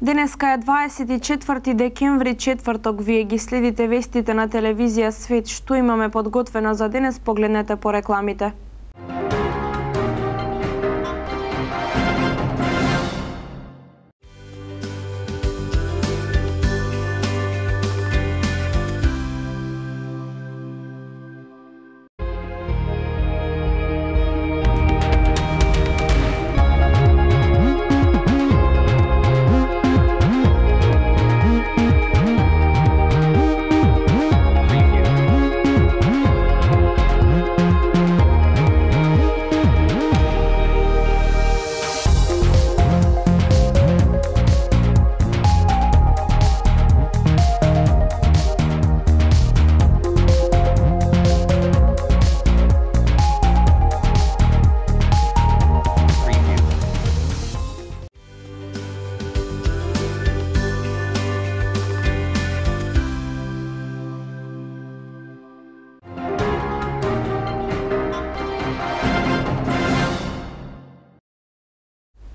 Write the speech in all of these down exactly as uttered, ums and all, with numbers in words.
Денеска е дваесет и четврти декември, четврток. Вие ги следите вестите на телевизија Свет. Што имаме подготвено за денес, погледнете по рекламите.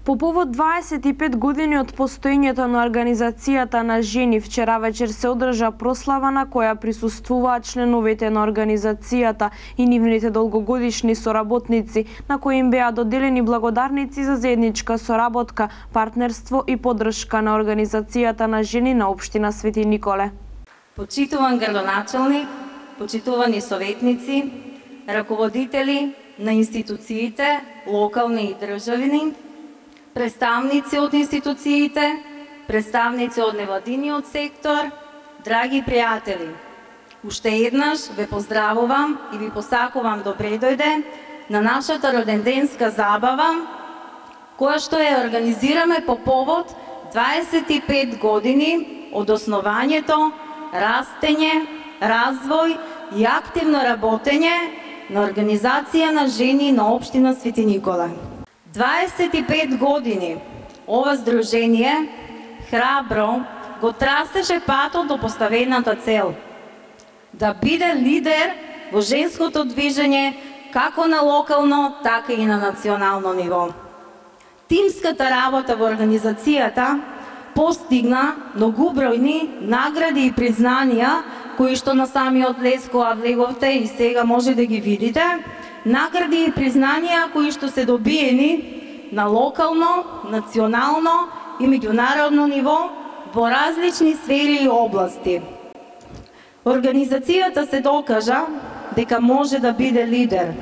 По повод дваесет и пет години од постоењето на Организацијата на жени, вчера вечер се одржа прослава на која присуствуваат членовите на Организацијата и нивните долгогодишни соработници, на кои им беа доделени благодарници за заедничка соработка, партнерство и поддршка на Организацијата на жени на општина Свети Николе. Почитуван градоначалник, почитувани советници, раководители на институциите, локални и државни, представници од институциите, представници од невладиниот сектор, драги пријатели, уште еднаш ве поздравувам и ви посакувам добре дојде на нашата роденденска забава, која што ја организираме по повод дваесет и пет години од основањето, растење, развој и активно работење на Организација на жени на општина Свети Николе. дваесет и пет години ова здружение храбро го трасеше патот до поставената цел да биде лидер во женското движење како на локално, така и на национално ниво. Тимската работа во организацијата постигна многубројни награди и признанија кои што на самиот Леско влеговте и сега може да ги видите. Награди и признанија кои што се добиени на локално, национално и меѓународно ниво во различни сфери и области. Организацијата се докажа дека може да биде лидер.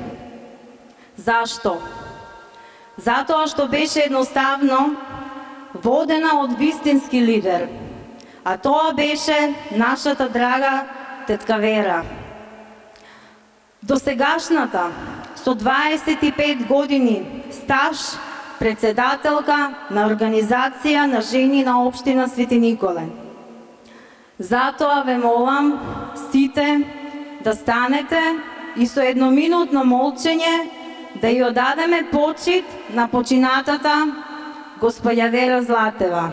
Зашто? Затоа што беше едноставно водена од вистински лидер, а тоа беше нашата драга тетка Вера. Досегашната, со дваесет и пет години стаж, председателка на Организација на жени на општина Свети Николе. Затоа ве молам сите да станете и со едноминутно молчење да ја одадеме почит на починатата господја Вера Златева.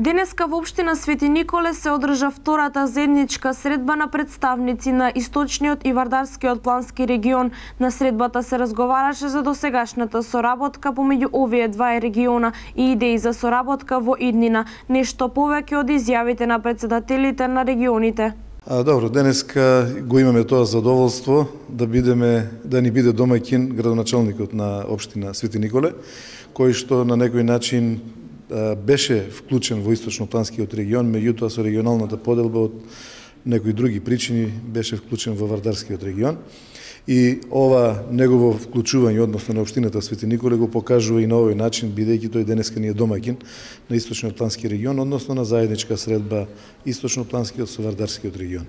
Денеска во општина Свети Николе се одржа втората заедничка средба на представници на Источниот и Вардарскиот плански регион. На средбата се разговараше за досегашната соработка помеѓу овие два региона и идеи за соработка во иднина. Нешто повеќе од изјавите на председателите на регионите. А, добро, денеска го имаме тоа задоволство да бидеме да ни биде домаќин градоначалникот на општина Свети Николе, кој што на некој начин беше вклучен во Источнопланскиот регион, меѓутоа со регионалната поделба од некои други причини беше вклучен во Вардарскиот регион. И ова негово вклучување, односно на општината Свети Николе, го покажува и на овој начин, бидејќи тој денеска ни е домаќин на Источноплански регион, односно на заедничка средба Источнопланскиот со Вардарскиот регион.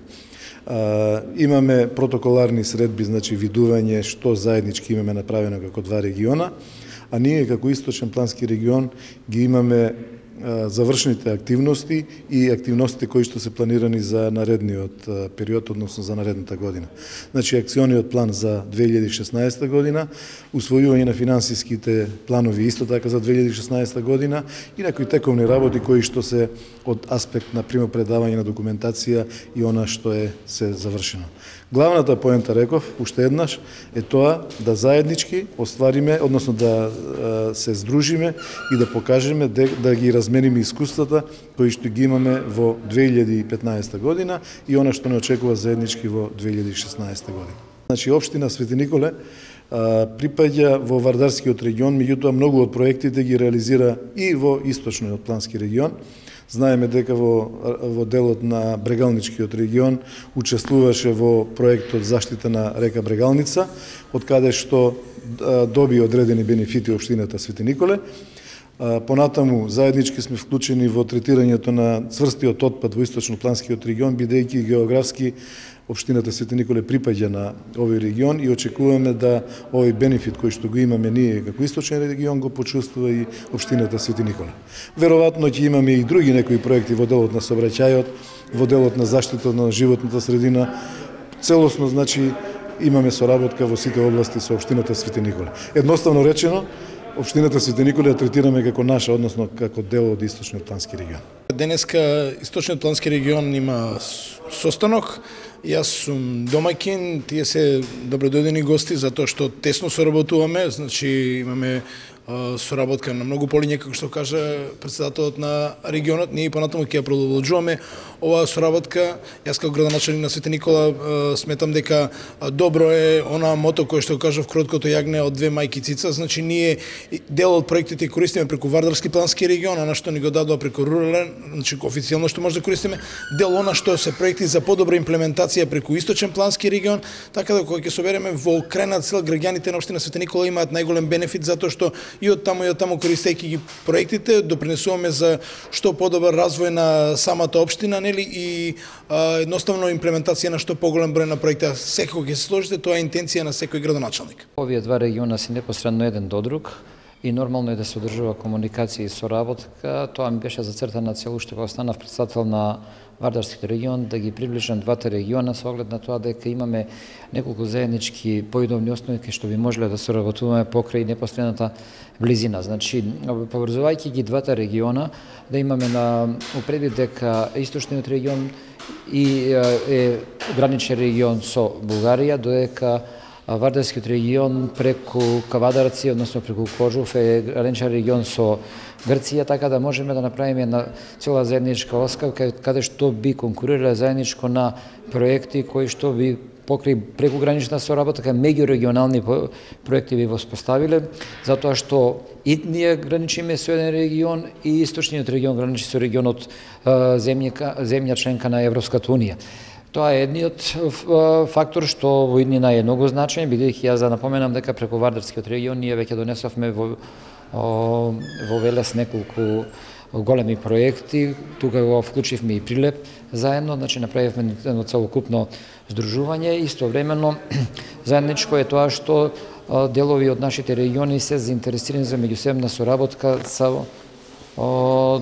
А, имаме протоколарни средби, значи видување што заеднички имаме направено како два региона, а ние како Источен плански регион ги имаме завршените активности и активностите кои што се планирани за наредниот период, односно за наредната година. Значи, акциониот план за две илјади и шеснаесета година, усвојување на финансиските планови исто така за две илјади и шеснаесета година и некои тековни работи кои што се од аспект на примопредавање на документација и она што е се завршено. Главната поента, реков, уште еднаш, е тоа да заеднички оствариме, односно да се здружиме и да покажеме, да ги размениме искуствата кои што ги имаме во две илјади и петнаесета година и она што не очекува заеднички во две илјади и шеснаесета година. Значи, општина Свети Николе припаѓа во Вардарскиот регион, меѓутоа многу од проектите ги реализира и во источниот плански регион. Знаеме дека во, во делот на Брегалничкиот регион учествуваше во проектот заштита на река Брегалница, од каде што доби одредени бенефити општината Свети Николе. Понатаму заеднички сме вклучени во третирањето на цврстиот отпад во источно-планскиот регион, бидејќи географски општината Свети Николе припаѓа на овој регион и очекуваме да овој бенефит кој што го имаме ние како источен регион го почувствува и општината Свети Николе. Веројатно ќе имаме и други некои проекти во делот на сообраќајот, во делот на заштита на животната средина. Целосно, значи, имаме соработка во сите области со општината Свети Николе. Едноставно речено, општината Свети Николе ја третираме како наша, односно како дел од источниот плански регион. Денеска источниот плански регион има состанок. Јас сум домаќин, тие се добродојдени гости затоа што тесно соработуваме, значи имаме соработка на многу полиња, како што кажа претседателот на регионот. Ние и понатаму ќе ја продолжуваме оваа соработка. Јас како градоначелник на Свети Никола сметам дека добро е она мото кое што кажав кроткото јагне од две мајки цица. Значи ние дел од проектите користиме преку Вардарски плански регион, она што ни го дадува преку рурален, значи официјално што може да користиме, дел она што се проекти за подобра имплементација преку источен плански регион, така да кога ќе собереме во крајна цел граѓаните на општина Свети Никола имаат најголем бенефит затоа што и од таму и од таму користејќи ги проектите допринесуваме за што подобар развој на самата општина, нели, и а, едноставно имплементација на што поголем број на проекти. Секој ќе се сложите, тоа е интенција на секој градоначелник. Овие два региона се непосредно еден до друг и нормално е да се одржува комуникација и соработка. Тоа ми беше зацртана цел уште кога станав претседател на Вардарскиот регион, да ги приближам двата региона со оглед на тоа дека имаме неколку заеднички поидовни основи кај што би можеле да соработуваме покрај непосредната близина. Значи, поврзувајќи ги двата региона, да имаме на упредвид дека источниот регион и е граничен регион со Бугарија, додека Вардарскиот регион преку Кавадарци, односно преку Кожув е граничен регион со Грција, така да можеме да направиме една цела заедничка оска каде што би конкурирале заедничко на проекти кои што би покрај прекугранична соработка меѓурегионални проекти би воспоставиле, затоа што и ние граничиме со еден регион и источниот регион граничи со регионот земја, земја членка на Европската унија. Тоа е едниот фактор што во иднина е многу значаен, бидејќи јас да напоменам дека преку Вардарскиот регион ние веќе донесовме во во Велес неколку големи проекти, тука го вклучивме и Прилеп заедно, значи направивме едно целокупно здружување. Истовремено заедничко е тоа што делови од нашите региони се заинтересирани за меѓусебна соработка со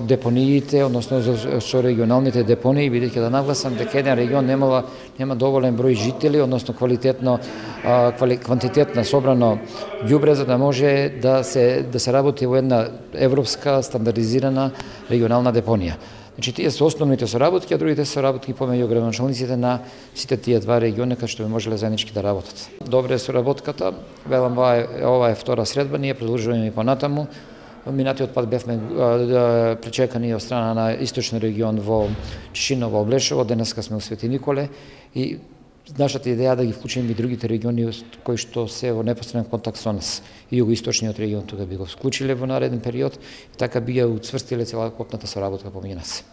депониите, односно со регионалните депонии, бидејќи да нагласам дека еден регион немала нема доволен број жители, односно квалитетно квантитетно собрано ѓубре за да може да се да се работи во една европска стандардизирана регионална депонија. Значи тие се основните соработки, а другите соработки помеѓу градоначалниците на сите тие два региони кај што би можеле заеднички да работат. Добре е соработката, велам ова е, ова е втора средба, ние продолжуваме и понатаму. Минатиот пат бевме пречекани од страна на источен регион во Чишиново, Облешово, денеска сме у Свети Николе и нашата идеја да ги вклучиме и другите региони кои што се во непосреден контакт со нас. И југоисточниот регион тука би го вклучиле во нареден период и така би ја уцврстиле целокупната соработка помеѓу нас.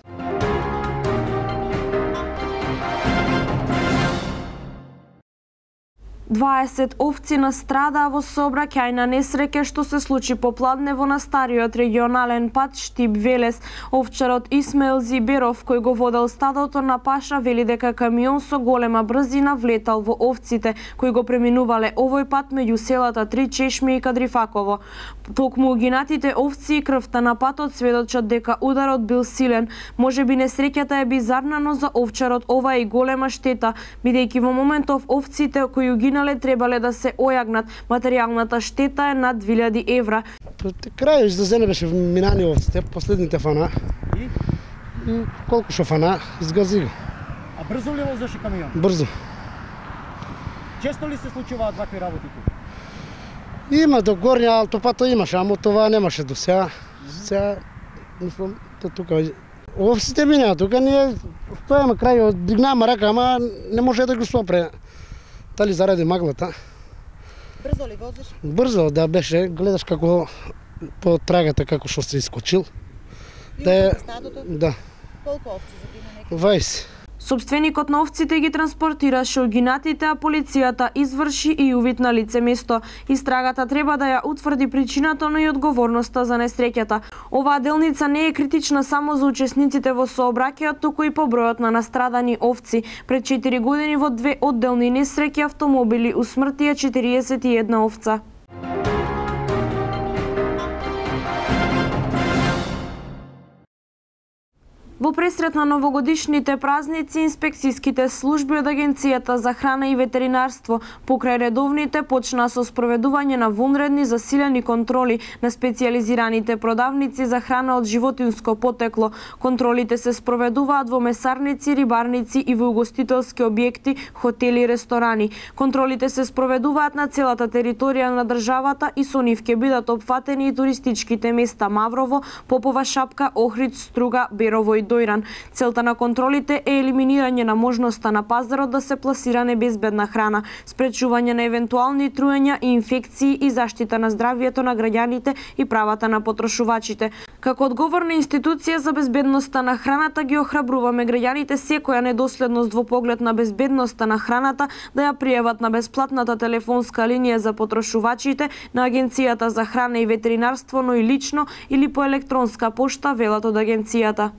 дваесет овци настрадаа во сообраќајна несреќа што се случи попладнево на стариот регионален пат Штип-Велес. Овчарот Исмаил Зиберов, кој го водел стадото на паша, вели дека камион со голема брзина влетал во овците кои го преминувале овој пат меѓу селата Три Чешми и Кадрифаково. Токму угинатите овци и крвта на патот сведочат дека ударот бил силен. Можеби несреќата е бизарна, но за овчарот ова е и голема штета, бидејќи во моментов овците кои угинале требале да се ојагнат. Материјалната штета е над две илјади евра. Крај за зене беше минани овците, последните фана. И? И колку шо фана, изгази го. А брзо ли возеше камион? Брзо. Често ли се случуваат вакви работи тука? Има до горња автопата имаше, ама това немаше до сега. Сега, мислам, то тука овците минаа тука, ние стојаме крај, дигнаме рака, ама не може да го сопре. Дали заради маглата. Брзо ли возиш? Брзо, да беше. Гледаш како по трагата како што се искочил. И да е, стадото? Да. Колку овци загина некој? дваесет. Собственикот на овците ги транспортираше угинатите, а полицијата изврши и увид на лице место. Истрагата треба да ја утврди причината, но и одговорноста за несреќата. Оваа делница не е критична само за учесниците во сообраќајот, туку и по бројот на настрадани овци. Пред четири години во две одделни несреќи автомобили усмртија четириесет и една овца. Во пресрет на новогодишните празници, инспекцијските служби од Агенцијата за храна и ветеринарство покрај редовните почнаа со спроведување на вонредни засилени контроли на специјализираните продавници за храна од животинско потекло. Контролите се спроведуваат во месарници, рибарници и во угостителски објекти, хотели и ресторани. Контролите се спроведуваат на целата територија на државата и со нив ќе бидат опфатени и туристичките места Маврово, Попова шапка, Охрид, Струга, Берово и Дојран. Целта на контролите е елиминирање на можноста на пазарот да се пласира небезбедна храна, спречување на евентуални труења и инфекции и заштита на здравјето на граѓаните и правата на потрошувачите. Како одговорна институција за безбедноста на храната ги охрабруваме граѓаните секоја недоследност во поглед на безбедноста на храната да ја пријават на бесплатната телефонска линија за потрошувачите на Агенцијата за храна и ветеринарство, но и лично или по електронска пошта, велат од агенцијата.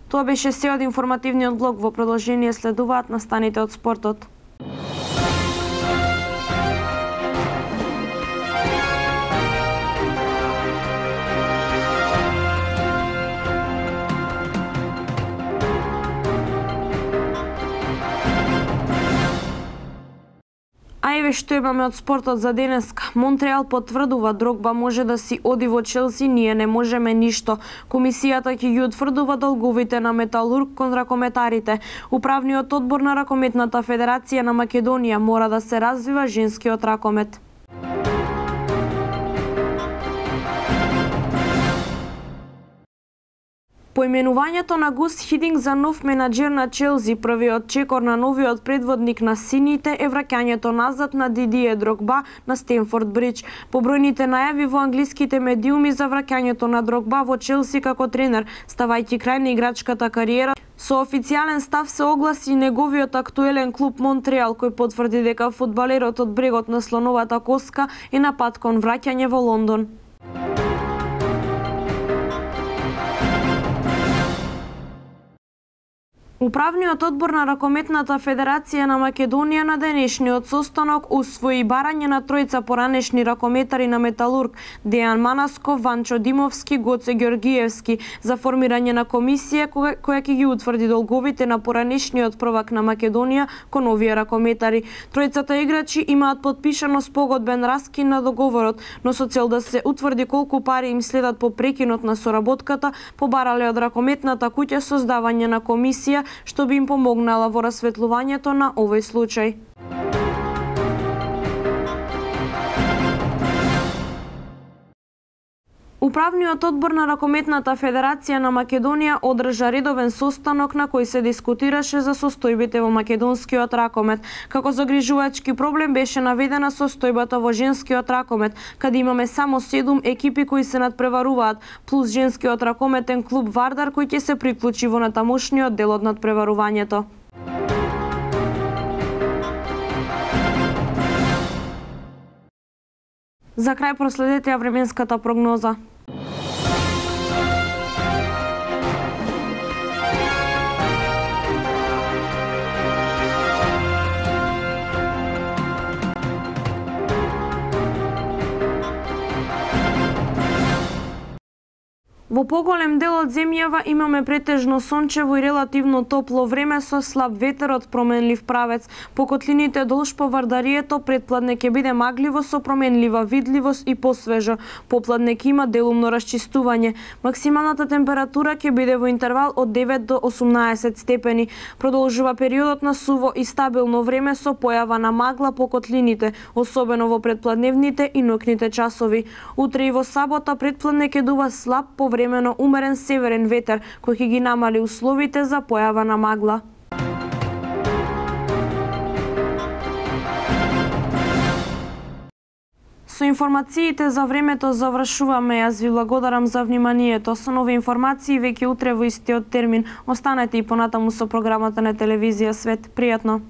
Тоа беше се од информативниот блок. Во продолжение следуваат настаните од спортот. А еве што имаме од спортот за денеска. Монтреал потврдува Дрогба може да си оди во Челси, ние не можеме ништо. Комисијата ќе ги утврдува долговите на Металург кон ракометарите. Управниот одбор на Ракометната федерација на Македонија мора да се развива женскиот ракомет. Поименувањето на Гус Хидинг за нов менаџер на Челси, првиот чекор на новиот предводник на сините, е враќањето назад на Дидие Дрогба на Стенфорд Бридж. Побројните најави во англиските медиуми за враќањето на Дрогба во Челси како тренер, ставајќи крај на играчката кариера, со официјален став се огласи неговиот актуелен клуб Монтреал, кој потврди дека фудбалерот од брегот на слоновата коска е на пат кон враќање во Лондон. Управниот одбор на Ракометната федерација на Македонија на денешниот состанок усвои барање на тројца поранешни ракометари на Металург, Дејан Манасков, Ванчо Димовски, Гоце Ѓоргиевски, за формирање на комисија која, која ќе ги утврди долговите на поранешниот prvак на Македонија кон овие ракометари. Тројцата играчи имаат подпишано спогодбен раскин на договорот, но со цел да се утврди колку пари им следат по прекинот на соработката, побарале од Ракометната куќа создавање на комисија што би им помогнала во расветлувањето на овој случај. Управниот одбор на Ракометната федерација на Македонија одржа редовен состанок на кој се дискутираше за состојбите во македонскиот ракомет. Како загрижувачки проблем беше наведена состојбата во женскиот ракомет, каде имаме само седум екипи кои се надпреваруваат, плюс женскиот ракометен клуб Вардар кој ќе се приклучи во натамошниот дел од надпреварувањето. За крај проследете ја временската прогноза. Во поголем дел од земјава имаме претежно сончево и релативно топло време со слаб ветер од променлив правец. По котлините долж по Вардарието предпладне ќе биде магливо со променлива видливост и посвежо. Попладне ќе има делумно расчистување. Максималната температура ќе биде во интервал од девет до осумнаесет степени. Продолжува периодот на суво и стабилно време со појава на магла по котлините, особено во предпладневните и ноќните часови. Утре и во сабота предпладне ќе дува слаб по времено умерен северен ветер, кој ќе ги намали условите за појава на магла. Со информациите за времето завршуваме. Јас ви благодарам за вниманието. Со нови информации веќе утре во истиот термин. Останете и понатаму со програмата на телевизија Свет. Пријатно!